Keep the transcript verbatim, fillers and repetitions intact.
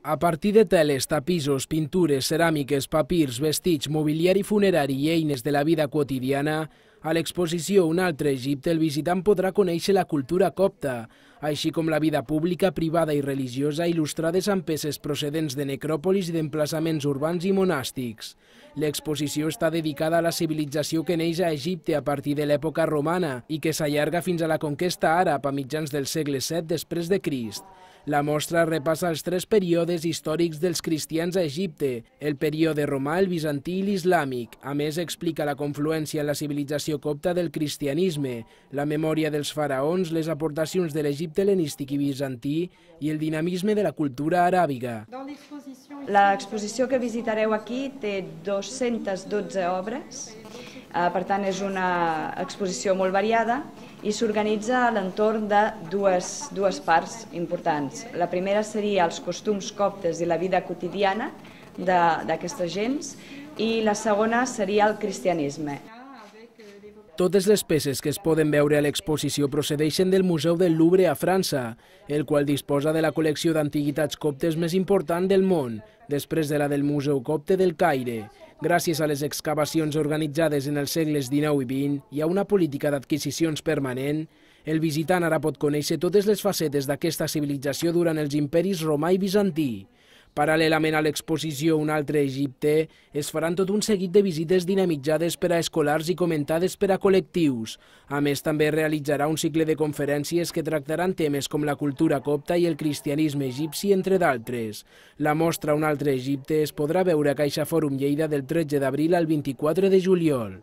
A partir de teles, tapissos, pintures, ceràmiques, papirs, vestits, mobiliari funerari i eines de la vida quotidiana, a l'exposició Un altre Egipte el visitant podrà conèixer la cultura copta, així com la vida pública, privada i religiosa il·lustrades amb peces procedents de necròpolis i d'emplaçaments urbans i monàstics. L'exposició està dedicada a la civilització que neix a Egipte a partir de l'època romana i que s'allarga fins a la conquesta àrab a mitjans del segle set després de Crist. La mostra repassa els tres períodes històrics dels cristians a Egipte, el període romà, el bizantí i l'islàmic. A més, explica la confluència en la civilització copta del cristianisme, la memòria dels faraons, les aportacions de l'Egipte hel·lenístic i bizantí i el dinamisme de la cultura aràbiga. L'exposició que visitareu aquí té dues-centes dotze obres, per tant és una exposició molt variada i s'organitza a l'entorn de dues, dues parts importants. La primera seria els costums coptes i la vida quotidiana d'aquesta gens i la segona seria el cristianisme. Totes les peces que es poden veure a l'exposició procedeixen del Museu del Louvre a França, el qual disposa de la col·lecció d'antiguitats coptes més important del món, després de la del Museu Copte del Caire. Gràcies a les excavacions organitzades en els segles dinou i vint i a una política d'adquisicions permanent, el visitant ara pot conèixer totes les facetes d'aquesta civilització durant els imperis romà i bizantí. Paral·lelament a l'exposició Un altre Egipte, es faran tot un seguit de visites dinamitzades per a escolars i comentades per a col·lectius. A més, també realitzarà un cicle de conferències que tractaran temes com la cultura copta i el cristianisme egipci, entre d'altres. La mostra Un altre Egipte es podrà veure a Caixa Fòrum Lleida del tretze d'abril al vint-i-quatre de juliol.